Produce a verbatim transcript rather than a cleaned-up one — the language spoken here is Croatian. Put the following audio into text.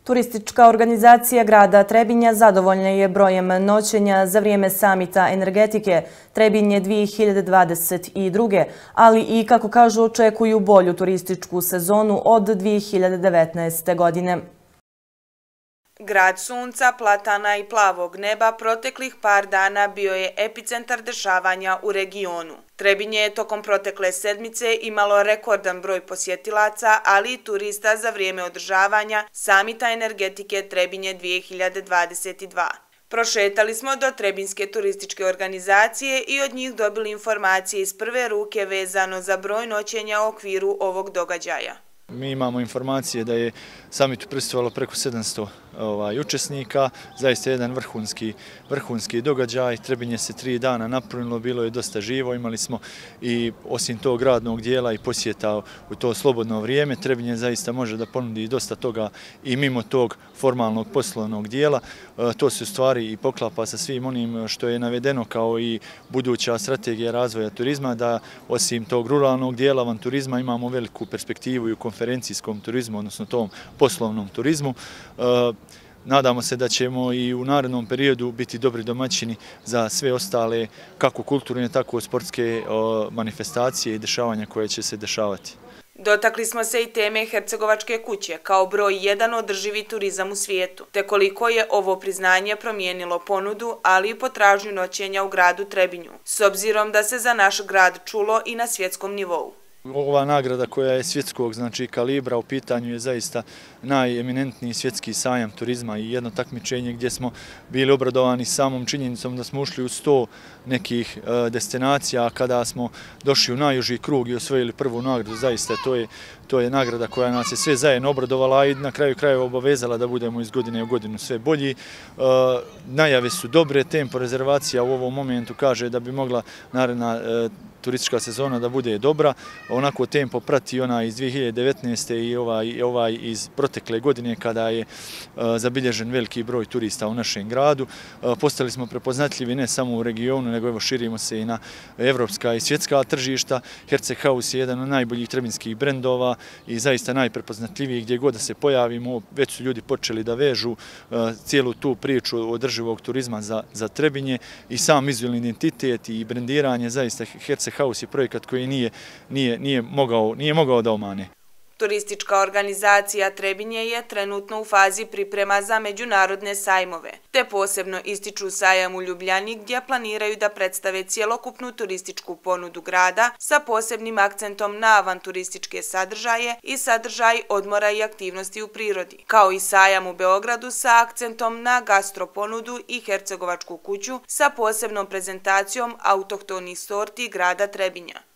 Turistička organizacija grada Trebinja zadovoljna je brojem noćenja za vrijeme samita energetike Trebinje dvije hiljade dvadeset druge. ali i, kako kažu, očekuju bolju turističku sezonu od dvije hiljade devetnaeste. godine. Grad sunca, platana i plavog neba proteklih par dana bio je epicentar dešavanja u regionu. Trebinje je tokom protekle sedmice imalo rekordan broj posjetilaca, ali i turista za vrijeme održavanja samita energetike Trebinje dvije hiljade dvadeset dva. Prošetali smo do Trebinjske turističke organizacije i od njih dobili informacije iz prve ruke vezano za broj noćenja u okviru ovog događaja. Mi imamo informacije da je samitu prisustvovalo preko sedamsto učesnika, zaista jedan vrhunski događaj. Trebinje se tri dana napunilo, bilo je dosta živo, imali smo i osim tog radnog dijela i posjeta u to slobodno vrijeme. Trebinje zaista može da ponudi dosta toga i mimo tog formalnog poslovnog dijela. To se u stvari i poklapa sa svim onim što je navedeno kao i buduća strategija razvoja turizma, da osim tog ruralnog dijela avanturizma imamo veliku perspektivu i u konferencijskom turizmu, odnosno tom poslovnom turizmu. Nadamo se da ćemo i u narednom periodu biti dobri domaćini za sve ostale, kako kulturne, tako sportske manifestacije i dešavanja koje će se dešavati. Dotakli smo se i teme Hercegovačke kuće kao broj jedan održivi turizam u svijetu, te koliko je ovo priznanje promijenilo ponudu, ali i potražnju noćenja u gradu Trebinju, s obzirom da se za naš grad čulo i na svjetskom nivou. Ova nagrada koja je svjetskog znači, kalibra u pitanju je zaista najeminentniji svjetski sajam turizma i jedno takmičenje gdje smo bili obradovani samom činjenicom da smo ušli u sto nekih e, destinacija, kada smo došli u najuži krug i osvojili prvu nagradu. Zaista to je, to je nagrada koja nas je sve zajedno obradovala i na kraju krajeva obavezala da budemo iz godine u godinu sve bolji. E, najave su dobre, tempo rezervacija u ovom momentu kaže da bi mogla naredna e, turistička sezona da bude dobra. Onako tempo prati ona iz dvije hiljade devetnaeste. i ovaj, ovaj iz protekle godine kada je uh, zabilježen veliki broj turista u našem gradu. Uh, postali smo prepoznatljivi ne samo u regionu, nego evo širimo se i na evropska i svjetska tržišta. Herceg House je jedan od najboljih trebinskih brendova i zaista najprepoznatljiviji gdje god da se pojavimo. Već su ljudi počeli da vežu uh, cijelu tu priču održivog turizma za, za Trebinje i sam vizualni identitet i brendiranje. Zaista Herceg House je projekat koji nije, nije, nije, mogao, nije mogao da omane. Turistička organizacija Trebinje je trenutno u fazi priprema za međunarodne sajmove, te posebno ističu sajam u Ljubljani gdje planiraju da predstave cjelokupnu turističku ponudu grada sa posebnim akcentom na avanturističke sadržaje i sadržaj odmora i aktivnosti u prirodi, kao i sajam u Beogradu sa akcentom na gastroponudu i Hercegovačku kuću sa posebnom prezentacijom autohtonih sorti grada Trebinja.